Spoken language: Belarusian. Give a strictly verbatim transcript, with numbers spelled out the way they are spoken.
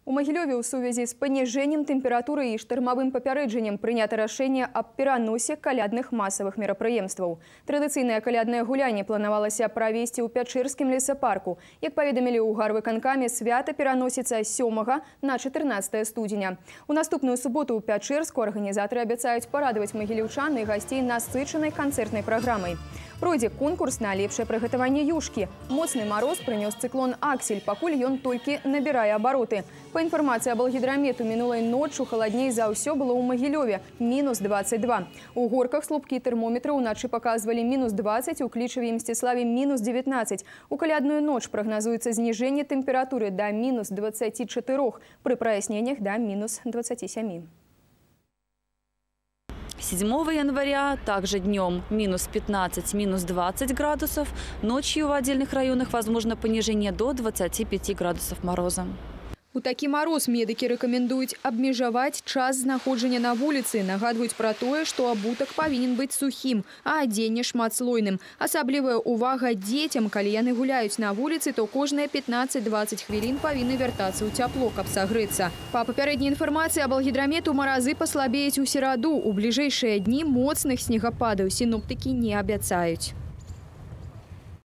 У Магілёве ў сувязі з паніжэннем тэмпературы і штармавым папярэджаннем прынята рашэнне аб пераносе калядных масавых мерапрыемстваў. Традыцыйнае каляднае гулянне планавалася правесці ў Пячэрскім лесапарку. Як паведамілі ў гарвыканкаме, свята пераносіцца з сёмага на чатырнаццатае студзеня. У наступную суботу ў Пячэрску арганізатары абяцаюць парадаваць магілеўчан і гасцей насычанай канцэртнай праграмай. Пройдзе конкурс на лепшае прыгатаванне юшкі. Моцны мароз прынёс цыклон «Аксель», пакуль ён толькі набірае абароты. Па інфармацыі абалгідрамету, мінулай ноччу халадней за ўсё было ў Магілёве – мінус дваццаць два. У горках слупкі тэрмометра ўначы паказвалі мінус дваццаць, у Клічаве і Мсціславе мінус дзевятнаццаць. У калядную ноч прагназуецца зніжэнне тэмпературы да мінус дваццаці чатырох, пры праясненнях да мінус дваццаці сямі. седьмого января также днем минус пятнадцать, минус двадцать градусов. Ночью в отдельных районах возможно понижение до двадцати пяти градусов мороза. У такі мароз медыкі рэкамендуюць абмежаваць час знаходжання на вуліцы. Нагадваюць пра тое, што абутак павінен быць сухім, а адзенне шматслойным. Асаблівая увага дзецям, калі яны гуляюць на вуліцы, то кожныя пятнаццаць-дваццаць хвілін павінны вяртацца ў цяпло, каб сагрэцца. Па папярэдняй інфармацыі абалгідрамету, маразы паслабеюць у сераду. У бліжэйшыя дні моцных снегападаў сіноптыкі не абяцаюць.